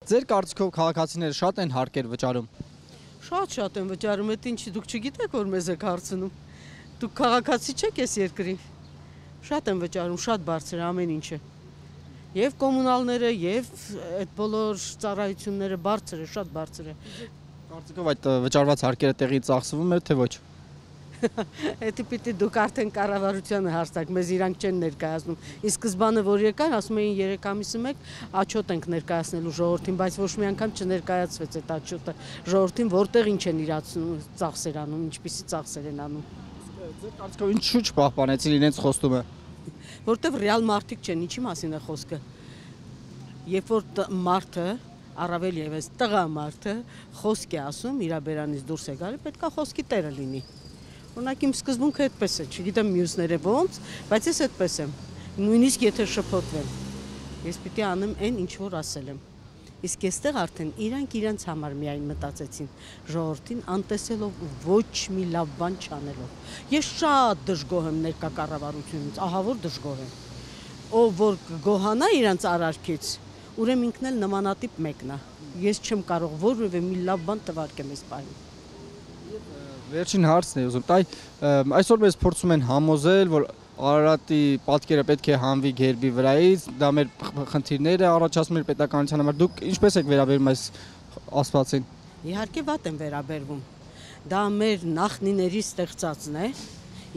Ձեր կարծիքով քաղաքացիները շատ են հարկեր վճարում։ Շատ են վճարում, այդ ինչի դուք չգիտեք, որ մեզ եք հարցնում։ Դուք քաղաքացի չեք այս երկրի։ Շատ են վճարում, շատ բարձր է ամեն ինչը։ Եվ կոմունալները, եւ այդ բոլոր ծառայությունները բարձր է, շատ բարձր է։ Կարծիքով այդ վճարված հարկերը տեղի ծախսվում է, թե ոչ։ Էդի պիտի դուք արդեն կառավարությանը հարցակ, մեզ իրանք չեն ներկայացնում։ Իսկ սկզբանը որ եկան, ասում էին 3 ամիսը մեկ աչոտ ենք ներկայացնելու ժողովրդին, բայց ոչ մի անգամ չներկայացվեց այդ աչոտը ժողովրդին, որտեղ ինչ են իրացնում, ծախսեր անում, ինչպիսի ծախսեր են անում։ Ձեր կարծիքով ինչու չպահպանեցին իրենց խոստումը։ Որտեղ ռեալ մարդիկ չեն, ինչի մասին է խոսքը։ Երբ որ մարդը առավել եւս տղա մարդը խոսք է ասում, իր բերանից դուրս է գալի, պետքա խոսքի տերը լինի։ Օրինակ իմ սկզբունքը այդպես է, չգիտեմ մյուսները ոնց, բայց ես այդպես եմ։ Նույնիսկ եթե շփոթվեմ, ես պիտի անեմ այն, ինչ որ ասել եմ։ Իսկ այստեղ արդեն իրանք իրենց համար միայն մտածեցին, ժողովրդին անտեսելով ու ոչ մի լավ բան չանելով։ Ես շատ դժգոհ եմ ներկա կառավարությունից, ահա որ դժգոհ եմ։ Ով որ գոհանա իրանց արարքից, ուրեմն ինքն էլ նմանատիպ մեկն է։ Ես չեմ կարող որևէ մի լավ բան տվարկեմ այս պահին։ Վերջին հարցն է ուզում տալ, այսօր մեզ փորձում են համոզել, որ Արարատի պատկերը պետք է հանվի գերբի վրայից, դա մեր խնդիրները առաջացնում մեր պետականության համար։ Դուք ինչպես եք վերաբերում այս ասվածին։ Իհարկե վատ են վերաբերվում։ Դա մեր նախնիների ստեղծածն է,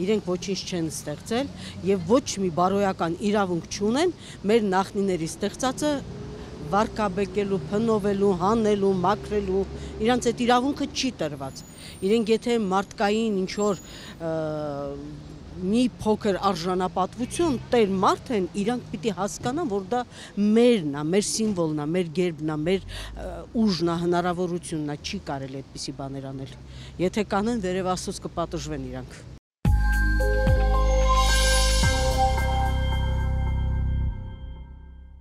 իրենք ոչինչ չեն ստեղծել եւ ոչ մի բարոյական իրավունք չունեն մեր նախնիների ստեղծածը վարկաբեկելու, փնովելու, հանելու, մաքրելու, իրանց այդ իրավունքը չի տրված։ Իրենք եթե մարդկային ինչ որ մի փոքր արժանապատվություն տեր մարդ են, իրանք պիտի հասկանան, որ դա մերն է, մեր սիմվոլն է, մեր գերբն է, մեր ուժն է, հնարավորությունն է, չի կարելի այդպիսի բաներ անել։ Եթե կանեն, վերև Աստծոց կպատժվեն իրանք։